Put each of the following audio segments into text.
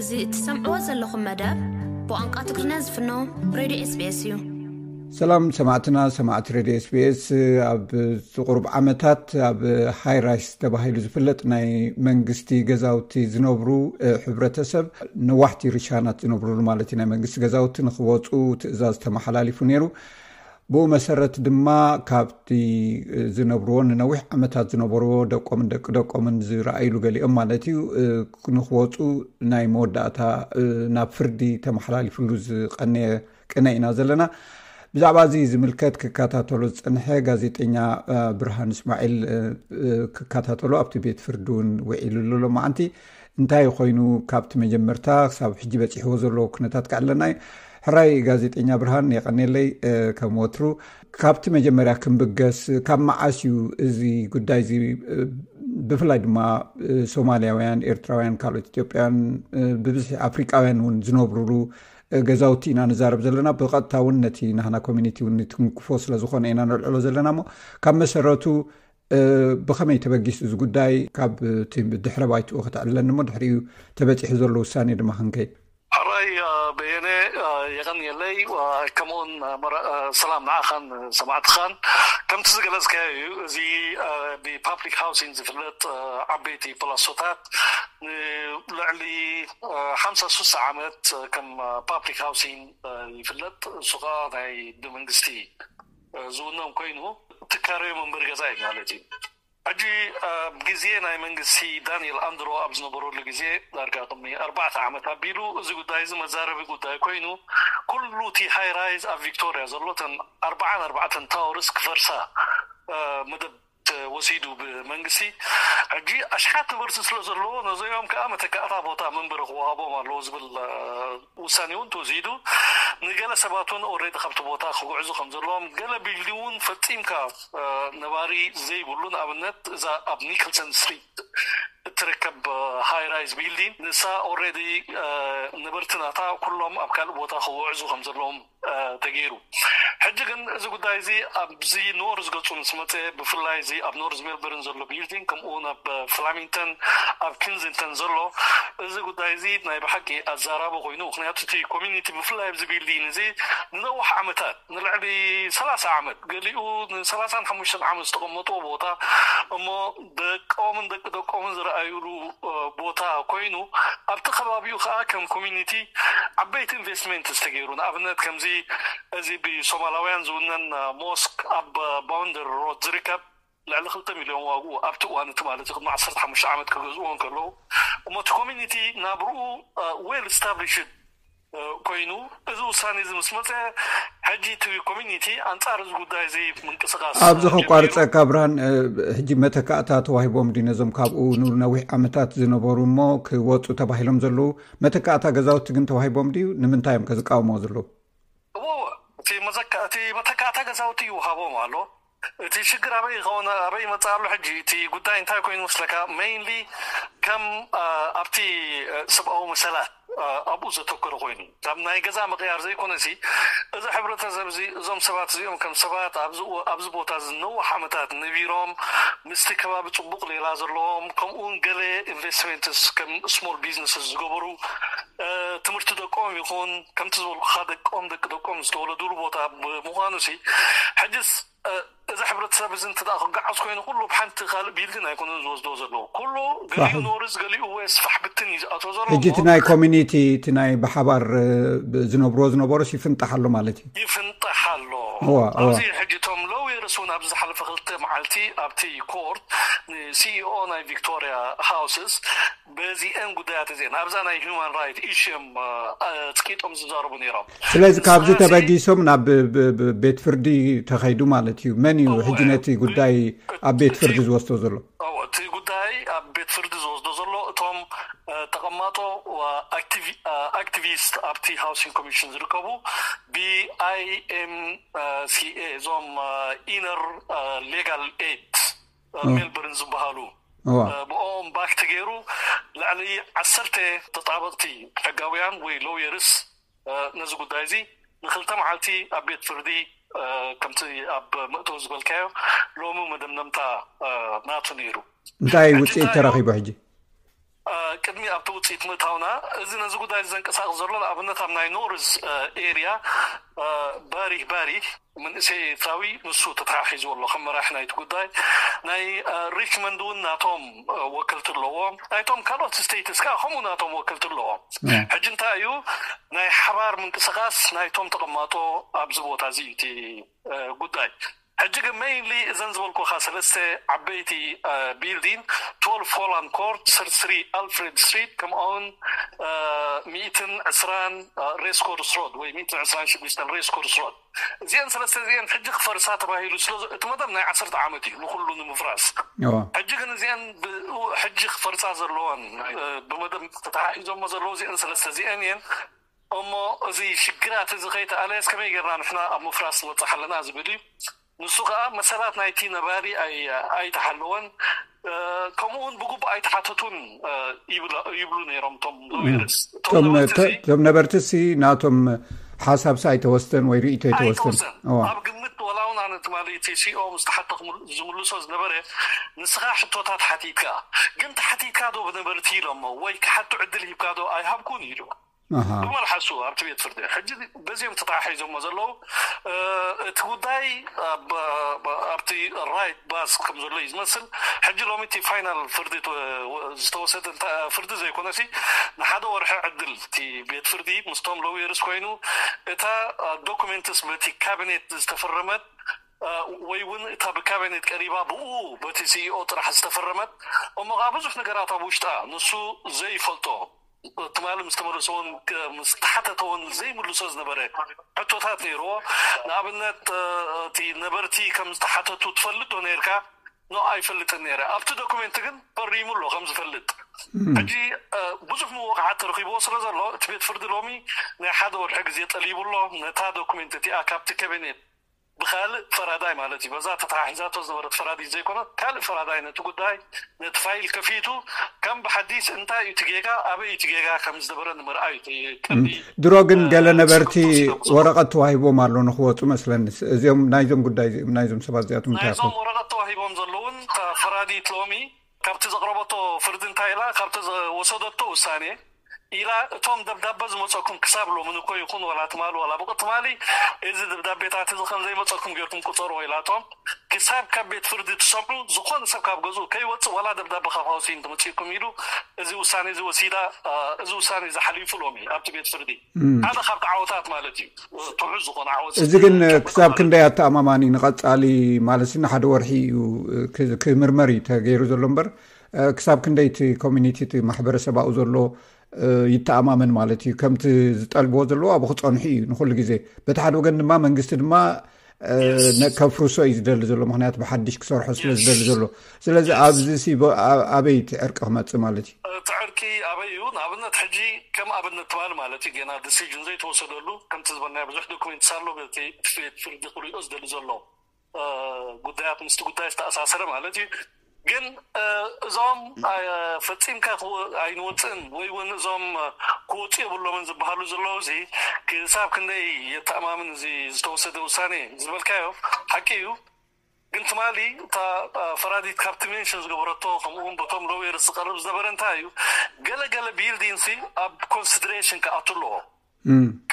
እዚ እትሰምዕዎ ዘለኹም መደብ ብቋንቋ ትግርኛ ዝፍኖ ሬድዮ ኤስቢኤስ እዩ። ሰላም ሰማዕትና፣ ሰማዕቲ ሬድዮ ኤስቢኤስ። ኣብ ቁሩብ ዓመታት ኣብ ሃይራይስ ተባሂሉ ዝፍለጥ ናይ መንግስቲ ገዛውቲ ዝነብሩ፣ እ፣ ሕብረተሰብ፣ ነዋሕቲ ርሻናት ዝነብሩሉ ማለት እዩ፣ ናይ መንግስቲ ገዛውቲ ንክወፁ ትእዛዝ ተመሓላሊፉ ነይሩ። ብኡ መሰረት ድማ ካብቲ ዝነብርዎ፣ ንነዊሕ ዓመታት ዝነበርዎ ደቆምን ደቂ ደቆምን ዝረኣይሉ ገሊኦም ማለት እዩ፣ እ፣ ንክወፁ ናይ መወዳእታ፣ እ፣ ናብ ፍርዲ ተመሓላሊፍሉ ዝቐነየ ቅነ ኢና ዘለና። ብዛዕባ እዚ ዝምልከት ክከታተሎ ዝጸንሐ ጋዜጠኛ፣ እ፣ ብርሃን እስማዒል፣ እ፣ እ፣ ክከታተሎ ኣብቲ ቤት ፍርዲ እውን ውዒሉ ኣሎ። ሎማዓንቲ እንታይ ኮይኑ ካብቲ መጀመርታ ክሳብ ሕጂ በጺሕዎ ዘሎ ኩነታት ከዕለና እዩ። ሕራይ ጋዜጠኛ ብርሃን፣ የቐኔለይ፣ እ፣ ከም ወትሩ። ካብቲ መጀመርያ ክንብገስ፣ ካብ መዓስ እዩ እዚ ጉዳይ እዚ፣ እ፣ ብፍላይ ድማ፣ እ፣ ሶማልያውያን፣ ኤርትራውያን፣ ካልኦት ኢትዮጵያውያን፣ እ፣ ብብዝሒ ኣፍሪቃውያን እውን ዝነብሩሉ፣ እ፣ ገዛውቲ ኢና ንዛረብ ዘለና። ብቐጥታ እውን ነቲ ናህና ኮሚኒቲ እውን ንትንክፎ ስለ ዝኾነ ኢና ነልዕሎ ዘለና። እሞ ካብ መሰረቱ፣ እ፣ ብኸመይ ተበጊሱ እዚ ጉዳይ? ካብ እቲ ድሕረ ባይትኡ ከተዕልለኒ እሞ ድሕሪኡ ተበጺሑ ዘሎ ውሳኔ ድማ ክንከይድ። ሕራይ፣ እ፣ በየነ፣ እ፣ የቐንየለይ፣ እ፣ ከምኡውን፣ እ፣ መረ-፣ እ፣ ሰላም ንዓኻን ሰማዕትኻን። ከምቲ ዝገለጽካዮ እዩ፣ እዚ፣ እ፣ ብፓብሊክ ሃውሲንግ ዝፍለጥ፣ እ፣ ዓበይቲ ፕላሶታት ንልዕሊ፣ እ፣ ሓምሳ ሱሳ ዓመት ከም ፓብሊክ ሃውሲንግ፣ እ፣ ይፍለጥ። እሱ ኸኣ ናይ ብመንግስቲ፣ እ፣ ዝውነን ኮይኑ ትካረዮ መንበሪ ገዛ እዩ ማለት እዩ። ሕጂ ኣብ ግዜ ናይ መንግስቲ ዳንኤል ኣንድሮ ኣብ ዝነበረሉ ግዜ፣ ዳርጋ ቅድሚ ኣርባዕተ ዓመት ኣቢሉ፣ እዚ ጉዳይ እዚ መዛረቢ ጉዳይ ኮይኑ፣ ኩሉ እቲ ሃይ ራይዝ ኣብ ቪክቶርያ ዘሎ፣ እተን ኣርባዓን ኣርባዕተን ታወርስ ክፈርሳ፣ እ፣ መደብ ተወሲዱ ብመንግስቲ። ሕጂ ኣሽሓት ነበርቲ ስለ ዘለዎ፣ ነዚኦም ከኣ መተካእታ ቦታ መንበሪ ክወሃቦም ኣለዎ ዝብል፣ እ፣ ውሳኔ እውን ተወሲዱ። ንገለ ሰባት እውን ኦልሬዲ ካብቲ ቦታ ክጉዕዙ ከም ዘለዎም፣ ገለ ቢልዲንግ እውን ፈጺምካ፣ እ፣ ነባሪ ዘይብሉ፣ ንኣብነት እዛ ኣብ ኒክልሰን ስትሪት እትርከብ፣ እ፣ ሃይ ራይዝ ቢልዲንግ፣ ንሳ ኦልሬዲ፣ እ፣ ነበርቲ ናታ ኩሎም ኣብ ካልእ ቦታ ክጉዕዙ ከም ዘለዎም፣ እ፣ ተገይሩ። ሕጂ ግን እዚ ጉዳይ እዚ ኣብዚ ኖርዝ ገጹ ምስ መጸ፣ ብፍላይ እዚ ኣብ ኖርዝ ሜልበርን ዘሎ ቢልዲንግ፣ ከምኡ እውን ኣብ ፍላሚንግተን፣ ኣብ ኪንዚንግተን ዘሎ፣ እዚ ጉዳይ እዚ ናይ ብሓቂ ኣዛራቢ ኮይኑ። ምኽንያቱ እቲ ኮሚኒቲ ብፍላይ ኣብዚ ቢልዲንግ እዚ ንነዋሕ ዓመታት፣ ንልዕሊ ሰላሳ ዓመት፣ ገሊኡ ንሰላሳን ሓሙሽተን ዓመት ዝተቐመጥዎ ቦታ፣ እሞ ደቆምን ደቂ ደቆምን ዝረኣዩሉ፣ እ፣ ቦታ ኮይኑ፣ ኣብቲ ከባቢኡ ከዓ ከም ኮሚኒቲ ዓበይቲ ኢንቨስትመንት ዝተገይሩ፣ ንኣብነት ከምዚ እዚ ብሶማላውያን ዝውነን፣ እ፣ ሞስክ ኣብ፣ እ፣ ባውንደሪ ሮድ ዝርከብ፣ ልዕሊ ክልተ ሚልዮን ዋግኡ ኣብቲ እዋን እቲ ማለት እዩ፣ ቅድሚ ዓሰርተ ሓሙሽተ ዓመት ክገዝእዎ እንከለዉ። እሞ እቲ ኮሚኒቲ ናብርኡ፣ እ፣ ዌል ስታብሊሽድ፣ እ፣ ኮይኑ፣ እዚ ውሳኔ እዚ ምስ መጸ፣ ሕጂ እቲ ኮሚኒቲ ኣንጻር እዚ ጉዳይ እዚ ምንቅስቃስ፣ ኣብዚ እ፣ ከቋርጸካ ጀሚሩ። ብርሃን፣ እ፣ ሕጂ መተካእታ ተዋሂቦም ድዩ ነዞም ካብኡ ንነዊሕ ዓመታት ዝነበሩ እሞ ክወጹ ተባሂሎም ዘለዉ መተካእታ ገዛውቲ ግን ተዋሂቦም ድዩ? ንምንታይ እዮም ከ ዝቃወምዎ ዘለዉ? እዎ፣ እዎ። እቲ መዘካ-፣ እቲ መተካእታ ገዛውቲ ይውሃቦም ኣሎ። እቲ ሽግር ኣበይ ይኸውን፣ ኣበይ ይመጽእ ኣሎ ሕጂ? እቲ ጉዳይ እንታይ ኮይኑ መስለካ? ሜይንሊ ከም፣ አ፣ ኣብቲ፣ አ፣ ሰብኣዊ መሰላት፣ አ፣ ኣብኡ ዘተኮረ ኮይኑ፣ ካብ ናይ ገዛ ምቕያር ዘይኮነሲ፣ እዚ ሕብረተሰብ እዚ፣ እዞም ሰባት እዚኦም ከም ሰባት ኣብዚ ው-፣ ኣብዚ ቦታ እዚ ነዋሕ ዓመታት ነቢሮም፣ ምስቲ ከባቢ ጽቡቕ ሌላ ዘለዎም፣ ከምኡ እውን ገለ ኢንቨስትመንትስ ከም ስሞል ቢዝነስስ ዝገበሩ፣ አ፣ ትምህርቲ ደቆም ይኹን፣ ከምቲ ዝበልኩኻ ደቆም፣ ደቂ ደቆም ዝተወለዱሉ ቦታ ብምዃኑሲ፣ ሕጅስ፣ እ፣ እዚ ሕብረተሰብ እዚ እንተ ደኣ ክገዓዝ ኮይኑ፣ ኩሉ ብሓንቲ ካልእ ቢልዲን ኣይኮነን ዝወስዶ ዘለዎ። ኩሉ ገሊኡ ፋሕ። ኖርዝ፣ ገሊኡ ዌስት፣ ፋሕ ብትን እዩ ዝኣትዎ ዘሎ። ሕጂ እቲ እሞ ናይ ኮሚኒቲ፣ እቲ ናይ ብሓባር፣ እ፣ ብ-፣ ዝነብርዎ ዝነበሩስ ይፍንጣሕ ኣሎ ማለት እዩ? ይፍንጣሕ ኣሎ። እዋ፣ እዋ። ኣብዚ ሕጂ እቶም ሎየርስ እውን ኣብዚ ዝሓለፈ ክልተ መዓልቲ ኣብቲ ኮርት ንሲኢኦ ናይ ቪክቶርያ ሃውስስ በዚአን ጉዳያት እዚአን ኣብዛ ናይ ሁማን ራይት ኢሹ እዮም፣ እ፣ ኣጽቂጦም ዝዛረቡ ነይሮም። ስለዚ ካብዚ ንስኻሲ ተበጊሶም ናብ ብ-፣ ብ-፣ ብ-፣ ቤት ፍርዲ ተኸይዱ ማለት እዩ። መን እዩ እወ፣ ሕጂ ነቲ እቲ፣ ጉዳይ እቲ፣ ኣብ ቤት ፍርዲ እቲ፣ ዝወስዶ ዘሎ? እወ፣ እቲ ጉዳይ ኣብ ቤት ፍርዲ ዝወስዶ ዘሎ እቶም፣ እ፣ ተቐማጦ፣ እ፣ ኣክቲቪ-፣ እ፣ ኣክቲቪስት ኣብቲ ሃውሲንግ ኮሚሽን ዝርከቡ ብ ኣይ ኤም ሲ ኤ፣ እዞም፣ እ፣ ኢነር፣ እ፣ ሌጋል ኤድ፣ እ፣ እ። ሜልበርን ዝበሃሉ፣ እዋ። እ፣ ብኦም ባክ ተገይሩ ልዕሊ ዓሰርተ ተጣበቕቲ ሕጋውያን ወይ ሎየርስ፣ እ፣ ነዚ ጉዳይ እዚ ንክልተ መዓልቲ ኣብ ቤት ፍርዲ፣ እ፣ ከምቲ ኣብ መእተዊ ዝበልካዮ ሎሚ መደምደምታ፣ እ፣ ናቱ ነይሩ። እንታይ ሕጂ ውፅኢት እንታይ ተረኺቡ እዩ? ሕጂ? ቅድሚ ኣብቲ ውፅኢት ምእታውና፣ እዚ ነዚ ጉዳይ ዘንቀሳቕስ ዘሎ ንኣብነት ኣብ ናይ ኖርዝ ኤርያ ባሪህ ባሪህ መንእሰይ ኤርትራዊ ንሱ ተተሓሒዝዎ ኣሎ ከም መራሒ ናይቲ ጉዳይ። ናይ ሪችመንድ እውን ናቶም ወክልቲ ኣለዎም። ናይቶም ካልኦት ስቴትስ ከዓ ከምኡ ናቶም ወክልቲ ኣለዎም። ሕጂ እንታይ እዩ ናይ ሓባር ምንቅስቃስ ናይቶም ተቐማጦ ኣብዚ ቦታ እዚ እዩ እቲ ጉዳይ። ሕጂ ግን ሜይንሊ እዘን ዝበልኩኻ ሰለስተ ዓበይቲ ቢልዲን፣ ትወልቭ ሆላንድ ኮርት፣ ስርስሪ ኣልፍሬድ ስትሪት፣ ከምኡውን ሚእትን ዕስራን ሬስ ኮርስ ሮድ ወይ ሚእትን ዕስራን ሽዱሽተን ሬስ ኮርስ ሮድ፣ እዚአን ሰለስተ እዚአን ሕጂ ክፈርሳ ተባሂሉ ስለ እቲ መደብ ናይ ዓሰርተ ዓመት እዩ ንኩሉ ንምፍራስ። ሕጂ ግን እዚአን ሕጂ ክፈርሳ ዘለዋን ብመደብ ተተሓሒዞሞ ዘለዉ እዚአን ሰለስተ እዚአን እየን። እሞ እዚ ሽግራት እዚ ከይተኣለየስ ከመይ ጌርና ንሕና ኣብ ምፍራስ ንወፅእ ኣለና ዝብል እዩ። ንሱ ከዓ መሰላት ናይቲ ነባሪ ኣይተሓለወን። ከምኡ እውን ብግቡእ ኣይተሓተቱን ይብሉ ነይሮም እቶም ሎየርስ። እቶም ነበርቲ ሲ ናቶም ሓሳብሲ ኣይተወስደን ወይ ርእይቶ ኣይተወስደን። ኣብ ግምት ወላ እውን ኣነ ትማሊ እቲ ሲኦ ምስ ተሓተኹ ዝምልሶ ዝነበረ፣ ንስኻ ሕቶታት ሓቲትካ ግን ተሓቲትካ ዶ ብነበርቲ ኢሎሞ ወይ ክሓቱ ዕድል ሂብካ ዶ ኣይሃብኩን ኢሉ ብመልሓሱ ኣብቲ ቤት ፍርዲ። ሕጂ በዚኦም ተተሓሒዞሞ ዘለዉ እቲ ጉዳይ ኣብቲ ራይት ባስ ከም ዘሎ እዩ ዝመስል። ሕጂ ሎሚ እቲ ፋይናል ፍርዲ ዝተወሰደ ፍርዲ ዘይኮነሲ ንሓደ ወርሒ ዕድል እቲ ቤት ፍርዲ ምስቶም ሎየርስ ኮይኑ እታ ዶኩሜንትስ በቲ ካቢኔት ዝተፈረመት ወይ እውን እታ ብካቢኔት ቀሪባ ብኡ በቲ ሲኢኦ ጥራሕ ዝተፈረመት እሞ ከዓ ብዙሕ ነገራት ኣብ ውሽጣ ንሱ ዘይፈልጦ ትማሊ ምስ ተመለሰ እውን ምስ ተሓተተ እውን ዘይምልሶ ዝነበረ ሕቶታት ነይርዎ። ንኣብነት እቲ ነበርቲ ከም ዝተሓተቱ ትፈልጥ ዶ ነርካ? ኖ ኣይፈልጥን ነይረ። ኣብቲ ዶኩሜንት ግን ፈሪሙ ኣሎ ከም ዝፈልጥ። ሕጂ ብዙሕ ምውቕዓት ተረኺብዎ ስለ ዘሎ እቲ ቤት ፍርዲ ሎሚ ናይ ሓደ ወርሒ ግዜ ጠሊቡ ኣሎ ነታ ዶኩሜንት እቲኣ ካብቲ ካቢኔት ብካልእ ፈራዳይ ማለት እዩ በዛ ተተሓሒዛቶ ዝነበረት ፈራዲት ዘይኮነት ካልእ ፈራዳይ ነቲ ጉዳይ ነቲ ፋይል ከፊቱ ከም ብሓዲስ እንታይ እዩ እቲ ጌጋ ኣበይ እቲ ጌጋ ከም ዝነበረ ንምርኣይ እዩ እቲ ቀንዲ ድሮ ግን ገለ ነበርቲ ወረቐት ተዋሂቦም ኣሎ ንክወፁ መስለኒ። እዚኦም ናይዞም ጉዳይ ናይዞም ሰባት እዚኣቶም እንታይ ናይዞም ወረቐት ተዋሂቦም ዘለውን እታ ፈራዲት ሎሚ ካብቲ ዘቕረበቶ ፍርዲ እንታይ ኢላ ካብቲ ዝወሰደቶ ውሳኔ ኢላ እቶም ደብዳበ ዝመፀኩም ክሳብ ሎምን እኮ ይኹን ዋላ ትማሊ ዋላ ብቅትማሊ እዚ ደብዳቤታት እዚ ከም ዘይመፀኩም ጌርኩም ቁፀርዎ ኢላቶም ክሳብ ካብ ቤት ፍርዲ ትሰምዑ ዝኾነ ሰብ ካብ ገዝኡ ከይወፅእ ዋላ ደብዳበ ካብ ሃውሲን ትመፅእኩም ኢሉ እዚ ውሳኔ እዚ ወሲዳ። እዚ ውሳኔ እዚ ሓሊፉ ሎሚ ኣብቲ ቤት ፍርዲ ሓደ ካብቲ ዓወታት ማለት እዩ። ትሑዝ ዝኾነ ዓወት እዚ ግን ክሳብ ክንደይ ኣተኣማማኒ ንቐፃሊ ማለት ንሓደ ወርሒ እዩ ክምርመር እዩ ተገይሩ ዘሎ እምበር ክሳብ ክንደይ እቲ ኮሚኒቲ እቲ ማሕበረሰብ ኣብኡ ዘሎ ይተኣማመን ማለት እዩ። ከምቲ ዝጠልብዎ ዘለዎ ኣብኡ ክፀንሑ እዩ ንኩሉ ግዜ። በቲ ሓደ ወገን ድማ መንግስቲ ድማ ከፍርሶ እዩ ዝደሊ ዘሎ ምክንያቱ ብሓድሽ ክሰርሖ ስለ ዝደሊ ዘሎ። ስለዚ ኣብዚ ኣበይ እቲ ዕርቂ ክመፅእ ማለት እዩ? እቲ ዕርቂ ኣበይ እዩ? ንኣብነት ሕጂ ከም ኣብነት ትማሊ ማለት እዩ ገና ዲሲዥን ዘይተወሰደሉ ከምቲ ዝበልናዮ ብዙሕ ዶኩሜንትስ ኣሎ በቲ ፍርዲ ክሪኦ ዝደሊ ዘሎ ጉዳያት ምስቲ ጉዳይ ዝተኣሳሰረ ማለት እዩ። ግን እዞም ፈፂምካ ኣይንወፅእን ወይ እውን እዞም ክወፁ የብሎምን ዝበሃሉ ዘለዉ እዚ ክሳብ ክንደይ የተኣማምን እዚ ዝተወሰደ ውሳኔ ዝበልካዮ ሓቂ እዩ። ግን ትማሊ እታ ፈራዲት ካብቲ ሜንሽን ዝገበረቶ ከምኡውን በቶም ሎየር ዝቀርብ ዝነበረ እንታይ እዩ ገለገለ ቢልዲንሲ ኣብ ኮንሲደሬሽን ክኣቱ ኣለዎ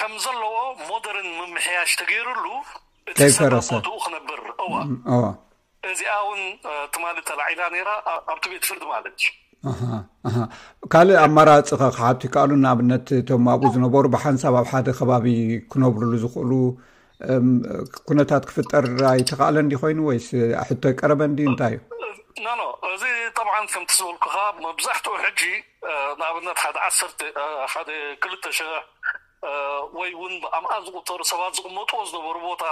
ከም ዘለዎ ሞደርን ምምሕያሽ ተገይሩሉ እቲ ሰብ ኣብ ቦትኡ ክነብር እዋ እዚኣ እውን ትማሊ ተላዒላ ነይራ ኣብቲ ቤት ፍርዲ ማለት እዩ። ካልእ ኣማራፂ ከ ክሓቱ ይከኣሉ? ንኣብነት እቶም ኣብኡ ዝነበሩ ብሓንሳብ ኣብ ሓደ ከባቢ ክነብርሉ ዝኽእሉ ኩነታት ክፍጠር ኣይተኻእለን ዲ ኮይኑ ወይስ ሕቶ ኣይቀረበን ዲ እንታይ እዩ? ኖ ኖ፣ እዚ ጠብዓን ከምቲ ዝበልኩኻ መብዛሕትኡ ሕጂ ንኣብነት ሓደ ዓሰርተ ሓደ ክልተ ሽሕ ወይ እውን ብኣምኣት ዝቁጠሩ ሰባት ዝቕመጥዎ ዝነበሩ ቦታ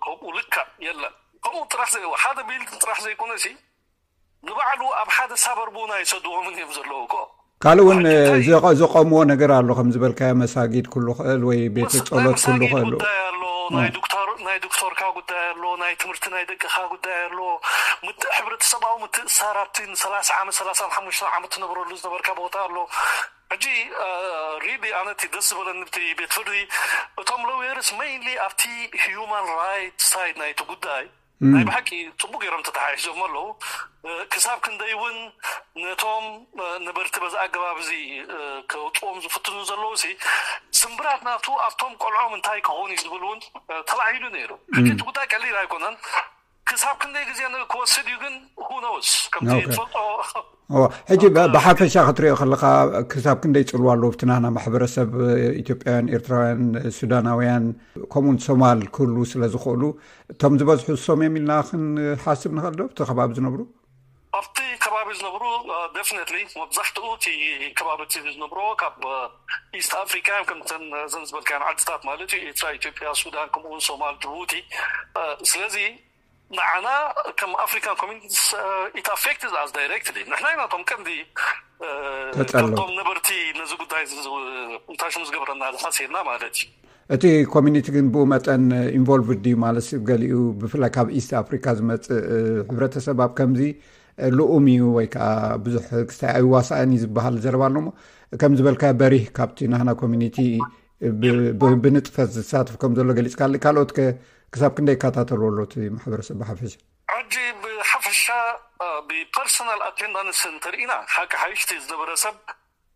ከምኡ ልክዕ የለን። ከምኡ ጥራሕ ዘይ ሓደ ቢልዲንግ ጥራሕ ዘይኮነ ሲ ንባዕሉ ኣብ ሓደ ሳበርብ እውን ኣይሰድዎምን እዮም ዘለዉ እኮ። ካልእ እውን ዘቆምዎ ነገር ኣሎ ከም ዝበልካዮ መሳጊድ ኩሉ ክእል ወይ ቤት ጸሎት ኩሉ ክእል። ጉዳይ ኣሎ ናይ ዶክተርካ ጉዳይ ኣሎ ናይ ትምህርቲ ናይ ደቅኻ ጉዳይ ኣሎ። ሕብረተሰባዊ ምትእሳር ኣብቲ ንሰላሳ ዓመት ሰላሳ ሓሙሽተ ዓመት ትነብረሉ ዝነበርካ ቦታ ኣሎ። ሕጂ ሪሊ ኣነቲ ደስ ዝበለኒ ብቲ ቤት ፍርዲ እቶም ሎየርስ ሜይንሊ ኣብቲ ሂዩማን ራይት ሳይድ ናይቲ ጉዳይ ናይ ብሓቂ ጽቡቅ ገይሮም ተተሓሒዞም ኣለዉ። ክሳብ ክንደይ እውን ነቶም ነበርቲ በዚ ኣገባብ እዚ ከውፅዎም ዝፍትኑ ዘለዉ ሲ ስምብራት ናቱ ኣብቶም ቆልዖም እንታይ ክኸውን እዩ ዝብል እውን ተባሂሉ ነይሩ። ሕጂ እቲ ጉዳይ ቀሊል ኣይኮነን። ክሳብ ክንደይ ግዜ ክወስድ እዩ ግን ሁነውስ ከምቲ ትፈልጦ። ሕጂ ብሓፈሻ ክትሪኦ ከለካ ክሳብ ክንደይ ፅልዋ ኣለዎ ኣብቲ ናና ማሕበረሰብ ኢትዮጵያውያን፣ ኤርትራውያን፣ ሱዳናውያን ከምኡውን ሶማል ክህሉ ስለ ዝኽእሉ እቶም ዝበዝሑ እሶም እዮም ኢልና ክንሓስብ ንኽእል ዶ ኣብቲ ከባቢ ዝነብሩ? ኣብቲ ከባቢ ዝነብሩ ደፍነትሊ መብዛሕትኡ እቲ ከባቢ እቲ ዝነብሮ ካብ ኢስት ኣፍሪካ እዮም። ከምተን ዘን ዝበልካን ዓድታት ማለት እዩ፣ ኤርትራ፣ ኢትዮጵያ፣ ሱዳን፣ ከምኡውን ሶማል፣ ጅቡቲ። ስለዚ ንዓና ከም ኣፍሪካን ኮሚኒቲስ ኢት ኣፌክትድ ኣስ ዳይሬክትሊ። ንሕና ኢና እቶም ቀንዲ ተጠለዉ። ካብቶም ነበርቲ ነዚ ጉዳይ እንታይ ሽም ዝገብረና ዝሓስየና ማለት እዩ። እቲ ኮሚኒቲ ግን ብኡ መጠን ኢንቮልቭድ ድዩ ማለት ገሊኡ ብፍላይ ካብ ኢስት ኣፍሪካ ዝመፅእ ሕብረተሰብ ኣብ ከምዚ ልኡም እዩ ወይ ከዓ ብዙሕ ክስታይ ኣይዋሳእን እዩ ዝበሃል ዘረባ ኣለሞ። ከም ዝበልካ በሪህ ካብቲ ናህና ኮሚኒቲ ብንጥፈት ዝሳተፍ ከም ዘሎ ገሊፅካሊ። ካልኦት ክሳብ ክንደይ ይከታተሉ ኣሎ እቲ ማሕበረሰብ ብሓፈሻ? ሕጂ ብሓፈሻ ብፐርሰናል ኣቴንዳንስ እንተርኢና ሓቂ ሓይሽቲ ዝነበረ ሰብ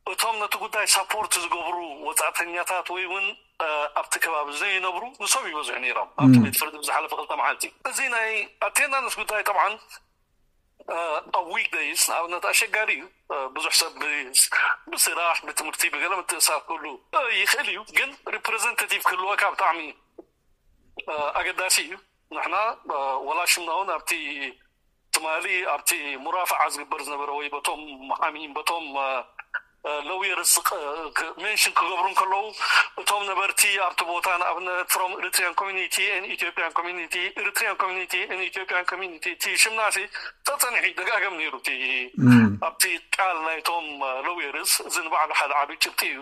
እቶም ነቲ ጉዳይ ሳፖርት ዝገብሩ ወፃእተኛታት ወይ እውን ኣብቲ ከባቢ ዘይነብሩ ንሶም ይበዝሑ ነይሮም ኣብቲ ቤት ፍርዲ ብዝሓለፈ ክልተ መዓልቲ። እዚ ናይ ኣቴንዳንስ ጉዳይ ጠብዓን ኣብ ዊክ ደይስ ንኣብነት ኣሸጋሪ እዩ። ብዙሕ ሰብ ብስራሕ ብትምህርቲ ብገለ ምትእሳር ክህሉ ይኽእል እዩ። ግን ሪፕሬዘንታቲቭ ክህልወካ ብጣዕሚ ኣገዳሲ እዩ። ንሕና ወላ ሽምና እውን ኣብቲ ትማሊ ኣብቲ ሙራፍዓ ዝግበር ዝነበረ ወይ በቶም መሓሚም በቶም ሎየርስ ሜንሽን ክገብሩ እንከለዉ እቶም ነበርቲ ኣብቲ ቦታ ንኣብነት from Eritrean community and Ethiopian community, Eritrean community and Ethiopian community እቲ ሽምናሲ ተፀኒሑ ይደጋገም ነይሩ። እቲ ኣብቲ ቃል ናይቶም ሎየርስ እዚ ንባዕሉ ሓደ ዓብዪ ጭብጢ እዩ።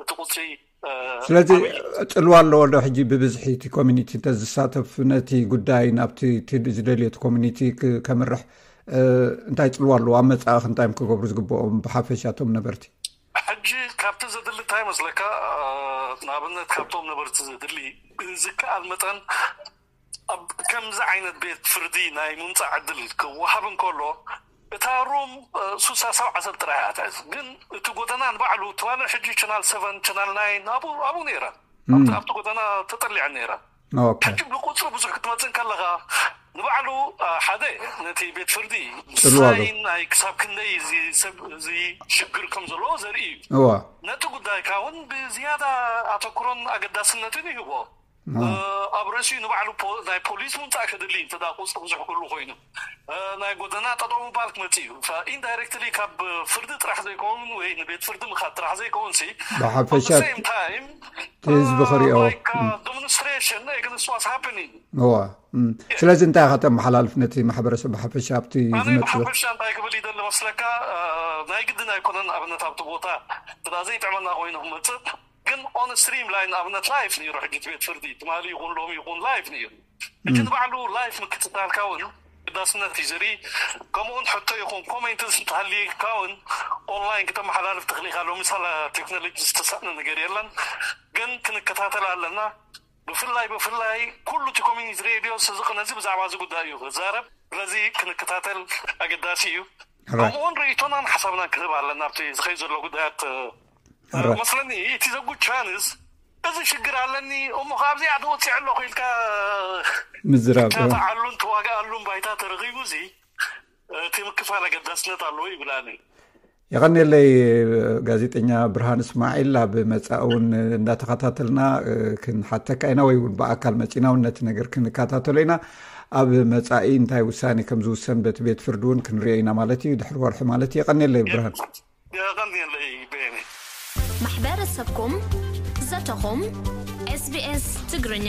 እቲ ቁፅሪ ስለዚ ፅልዋ ኣለዎ ዶ ሕጂ ብብዝሒ እቲ ኮሚኒቲ እንተዝሳተፍ ነቲ ጉዳይ ናብቲ ዝደልዮ እቲ ኮሚኒቲ ከምርሕ እንታይ ፅልዋ ኣለዎ? ኣብ መፃእኽ እንታይ እዮም ክገብሩ ዝግብኦም ብሓፈሻ እቶም ነበርቲ? ሕጂ ካብቲ ዘድሊ እንታይ ይመስለካ? ንኣብነት ካብቶም ነበርቲ ዘድሊ ብዝከኣል መጠን ኣብ ከምዚ ዓይነት ቤት ፍርዲ ናይ ምምፃእ ዕድል ክወሃብ እንከሎ እታ ሩም ሱሳ ሰብዓ ሰብ ጥራይ እያ ትሕዝ። ግን እቲ ጎደና ንባዕሉ ትማሊ ሕጂ ቻናል ሰቨን ቻናል ናይን ኣብኡ ነይረን። ኣብቲ ጎደና ተጠሊዐን ነይረን። ሕጂ ብቁፅሪ ብዙሕ ክትመፅእ ከለካ ንባዕሉ ሓደ ነቲ ቤት ፍርዲ ሳይን ናይ ክሳብ ክንደይ እዚ ሰብ እዚ ሽግር ከም ዘለዎ ዘርኢ እዩ። ነቲ ጉዳይካ እውን ብዝያዳ ኣተኩሮን ኣገዳስነትን ይህቦ። ኣብ ርእሲኡ ንባዕሉ ናይ ፖሊስ ምምፃእ ከድሊ እንተ ቁፅሪ ብዙሕ ክህሉ ኮይኑ ናይ ጎደና ጠጠው ምባል ክመፅእ እዩ። ኢንዳይሬክትሊ ካብ ፍርዲ ጥራሕ ዘይከውን ወይ ንቤት ፍርዲ ምኻድ ጥራሕ ዘይከውን ሲ ብሓፈሻ ታይም ህዝቢ ክሪኦ ዶሚኒስትሬሽን ኤግንስት ዋስ ሃፕኒንግ እዋ ስለዚ እንታይ ኢኻ ተመሓላልፍ ነቲ ማሕበረሰብ ብሓፈሻ ኣብቲ ዝመፅእ? ብሓፈሻ እንታይ ክብል ይደሊ መስለካ? ናይ ግድን ኣይኮነን ኣብነት ኣብቲ ቦታ ስላ ዘይጥዕመና ኮይኑ ክመፅእ ግን ኦን ስትሪም ላይን ኣብነት ላይፍ ነይሩ። ሕጂ ቤት ፍርዲ ትማሊ ይኹን ሎሚ ይኹን ላይፍ ነይሩ። ሕጂ ንባዕሉ ላይፍ ምክትታልካ እውን ግዳስነት እዩ ዘርኢ። ከምኡውን ሕቶ ይኹን ኮሜንትስ እንተሃልየካ እውን ኦንላይን ክተመሓላልፍ ትኽእል ኢኻ። ሎሚ ሳላ ቴክኖሎጂ ዝተሳእነ ነገር የለን። ግን ክንከታተል ኣለና። ብፍላይ ብፍላይ ኩሉ እቲ ኮሚኒቲ ሬድዮ ስዝቕ ነዚ ብዛዕባ እዚ ጉዳይ እዩ ክዛረብ። ስለዚ ክንከታተል ኣገዳሲ እዩ። ከምኡውን ርእይቶናን ሓሳብናን ክህብ ኣለና ኣብቲ ዝኸይ ዘሎ ጉዳያት መስለኒ። እቲ ዘጉ ቻንስ እዚ ሽግር ኣለኒ እሞ ካብዚኣ ተወፂዐ ኣለኹ ኢልካ ምዝራብ ትካታዓሉን ተዋግኣሉን ባይታ ተረኺቡ እዚ እቲ ምክፋል ኣገዳስነት ኣለዎ ይብላኒ። የቐንየለይ ጋዜጠኛ ብርሃን እስማዒል። ኣብ መጻኢ እውን እንዳተኸታተልና ክንሓተካ ኢና ወይ እውን ብኣካል መጺና እውን ነቲ ነገር ክንከታተሎ ኢና። ኣብ መጻኢ እንታይ ውሳኔ ከም ዝውሰን በቲ ቤት ፍርዲ እውን ክንሪኦ ኢና ማለት እዩ፣ ድሕሪ ወርሒ ማለት እዩ። የቐንየለይ ብርሃን። የቐንየለይ ቤኒ። ማሕበረሰብኩም ዘተኹም ኤስቢኤስ ትግርኛ።